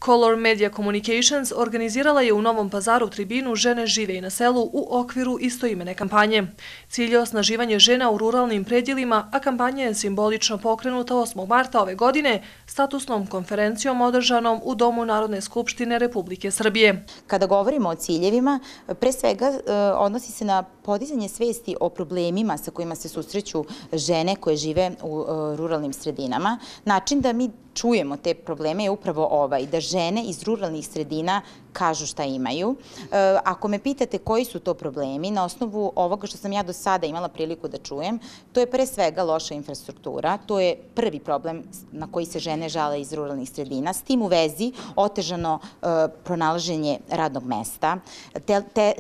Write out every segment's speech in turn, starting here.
Color Media Communications organizirala je u Novom Pazaru tribinu Žene žive i na selu u okviru istoimene kampanje. Cilj je osnaživanje žena u ruralnim predjelima, a kampanja je simbolično pokrenuta 8. marta ove godine statusnom konferencijom održanom u Domu Narodne skupštine Republike Srbije. Kada govorimo o ciljevima, pre svega odnosi se na podizanje svesti o problemima sa kojima se susreću žene koje žive u ruralnim sredinama. Način da mi čujemo te probleme je upravo ovaj, da žene iz ruralnih sredina kažu šta imaju. Ako me pitate koji su to problemi, na osnovu ovoga što sam ja do sada imala priliku da čujem, to je pre svega loša infrastruktura, to je prvi problem na koji se žene žale iz ruralnih sredina. S tim u vezi otežano pronalaženje radnog mesta,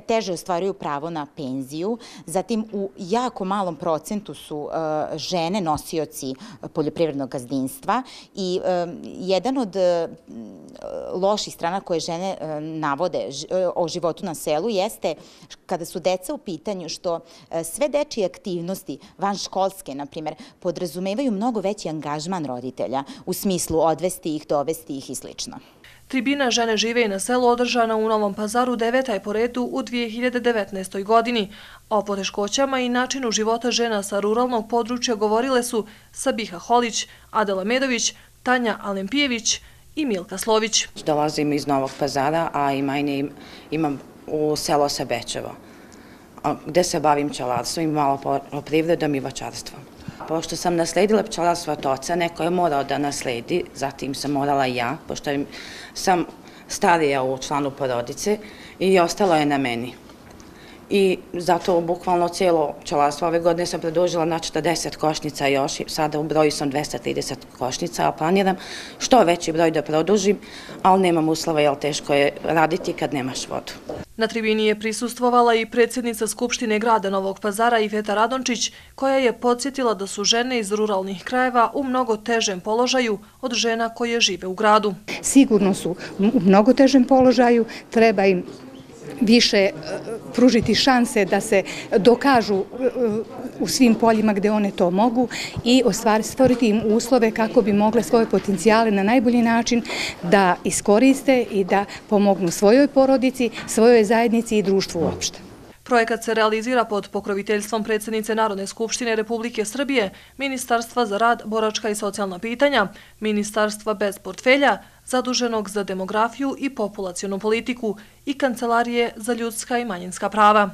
teže ostvaruju pravo na penziju, zatim u jako malom procentu su žene nosioci poljoprivrednog gazdinstva i jedan od loših strana koje žene navode o životu na selu jeste kada su deca u pitanju što sve dečije aktivnosti, vanškolske, na primjer, podrazumevaju mnogo veći angažman roditelja u smislu odvesti ih, dovesti ih i sl. Tribina Žene žive i na selu održana u Novom Pazaru 9. je po redu u 2019. godini. O poteškoćama i načinu života žena sa ruralnog područja govorile su Sabiha Holić, Adela Medović, Tanja Alempijević i Milka Slović. Dolazim iz Novog Pazara, a imam u selo Sebečevo, gde se bavim pčelarstvom i malo poljoprivredom i voćarstvom. Pošto sam nasledila pčelarstvo od oca, neko je morao da nasledi, zatim sam morala i ja, pošto sam starija u članu porodice i ostalo je na meni. I zato bukvalno cijelo pčelarstvo ove godine sam produžila na 40 košnica još, sada u broju sam 230 košnica, a planiram što veći broj da produžim, ali nemam uslova jer teško je raditi kad nemaš vodu. Na tribini je prisustvovala i predsjednica Skupštine grada Novog Pazara Iveta Radončić, koja je podsjetila da su žene iz ruralnih krajeva u mnogo težem položaju od žena koje žive u gradu. Sigurno su u mnogo težem položaju, treba im više pružiti šanse da se dokažu u svim poljima gde one to mogu i stvoriti im uslove kako bi mogle svoje potencijale na najbolji način da iskoriste i da pomognu svojoj porodici, svojoj zajednici i društvu uopšte. Projekat se realizira pod pokroviteljstvom predsjednice Narodne skupštine Republike Srbije, Ministarstva za rad, boračka i socijalna pitanja, Ministarstva bez portfelja, zaduženog za demografiju i populacionu politiku i Kancelarije za ljudska i manjinska prava.